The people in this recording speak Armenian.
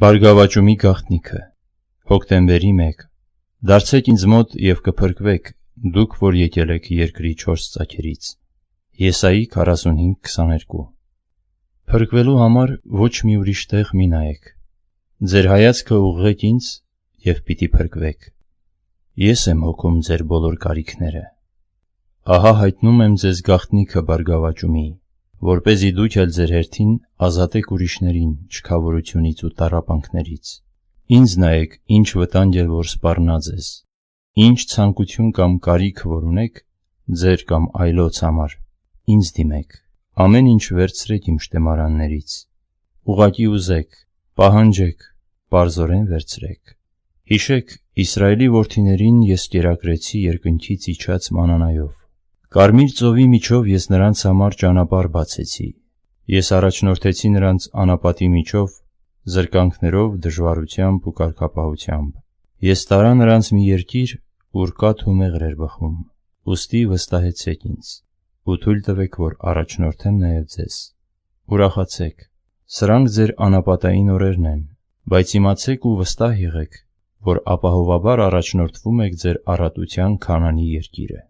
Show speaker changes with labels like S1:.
S1: Բարգավաճումի գաղտնիքը Հոկտեմբերի 1 Դարձեք ինձ մոտ և կփրկվեք, դուք, որ եկել եք երկրի 4 ծագերից։ Եսայի 45:22 Փրկվելու համար ոչ մի ուրիշ տեղ մի նայեք։ Ձեր հայացքը ուղղեք ինձ և պիտի փրկվեք։ Ես եմ հոգում ձեր բոլոր կարիքները։ Ահա հայտնում եմ ձեզ գաղտնիքը բարգավաճումի, որպեսզի դուք էլ ձեր հերթին ազատեք ուրիշներին չքավորությունից ու տառապանքներից։ Ինձ նայեք, ինչ վտանգ է, որ սպառնա ձեզ, ինչ ցանկություն կամ կարիք որ ունեք ձեր կամ այլոց համար, ինձ դիմեք, ամեն ինչ վերցրեք իմ շտեմարաններից, ուղղակի ուզեք, պահանջեք, պարզորեն վերցրեք։ Հիշեք, Իսրայելի որդիներին ես կերակրեցի երկնքից իջած մանանայով։ Կարմիր ծովի միջով ես նրանց համար ճանապարհ բացեցի։ Ես առաջնորդեցի նրանց անապատի միջով, զրկանքներով, դժվարությամբ ու կարգապահությամբ։ Ես տարա նրանց մի երկիր, ուր կաթ ու մեղր էր բխում, ուստի վստահեցեք ինձ, ու թույլ տվեք, որ առաջնորդեմ նաև ձեզ։ Ուրախացեք, սրանք ձեր անապատային օրերն են, բայց իմացեք ու վստահ եղեք, որ ապահովաբար առաջնորդվում եք ձեր առատության Քանանի երկիրը։